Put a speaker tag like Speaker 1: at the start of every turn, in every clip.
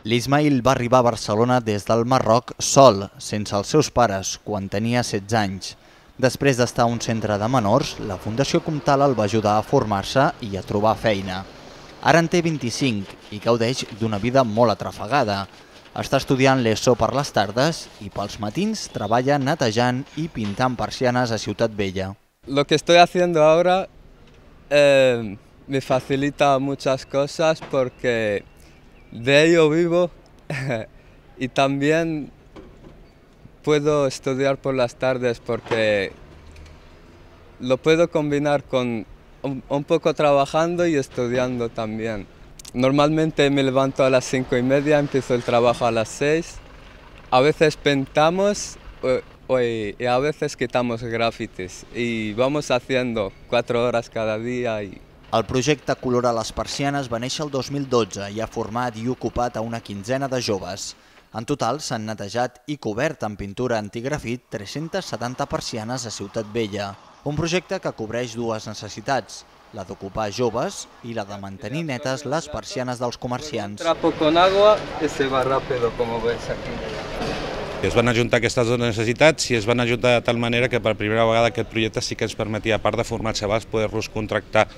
Speaker 1: L'Ismaïl va arribar a Barcelona des del Marroc sol, sense els seus pares, quan tenia 16 anys. Després d'estar a un centre de menors, la Fundació Comtal el va ajudar a formar-se i a trobar feina. Ara en té 25 i gaudeix d'una vida molt atrafegada. Està estudiant l'ESO per les tardes i pels matins treballa netejant i pintant persianes a Ciutat Vella.
Speaker 2: Lo que estoy haciendo ahora me facilita muchas cosas porque de ello vivo y también puedo estudiar por las tardes porque lo puedo combinar con un poco trabajando y estudiando también. Normalmente me levanto a las 5:30, empiezo el trabajo a las 6. A veces pintamos y a veces quitamos grafitis y vamos haciendo 4 horas cada día.
Speaker 1: El projecte Colora les persianes va néixer el 2012 i ha format i ocupat a una quinzena de joves. En total s'han netejat i cobert amb pintura antigrafit 370 persianes a Ciutat Vella. Un projecte que cobreix dues necessitats, la d'ocupar joves i la de mantenir netes les persianes dels comerciants.
Speaker 2: Trapo con agua y se va rápido, como ves aquí.
Speaker 3: Es van ajuntar aquestes dues necessitats i es van ajuntar de tal manera que per primera vegada aquest projecte sí que ens permetia, a part de formar xavals, poder-los contractar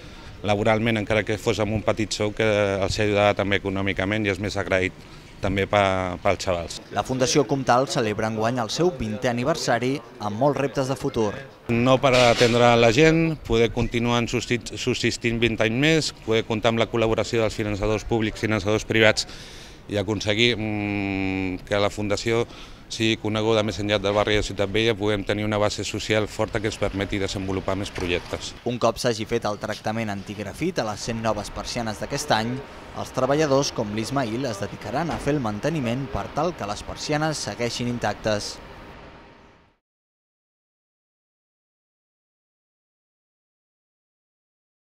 Speaker 3: laboralment, encara que fos amb un petit sou, que els ajudava també econòmicament i és més agraït també pels xavals.
Speaker 1: La Fundació Comtal celebra enguany el seu 20è aniversari amb molts reptes de futur.
Speaker 3: No parar d'atendre la gent, poder continuar subsistint 20 anys més, poder comptar amb la col·laboració dels finançadors públics, finançadors privats i aconseguir que la Fundació sigui coneguda més enllà del barri de Ciutat Vella, puguem tenir una base social forta que ens permeti desenvolupar més projectes.
Speaker 1: Un cop s'hagi fet el tractament antigrafit a les 100 noves persianes d'aquest any, els treballadors com l'Ismaïl es dedicaran a fer el manteniment per tal que les persianes segueixin intactes.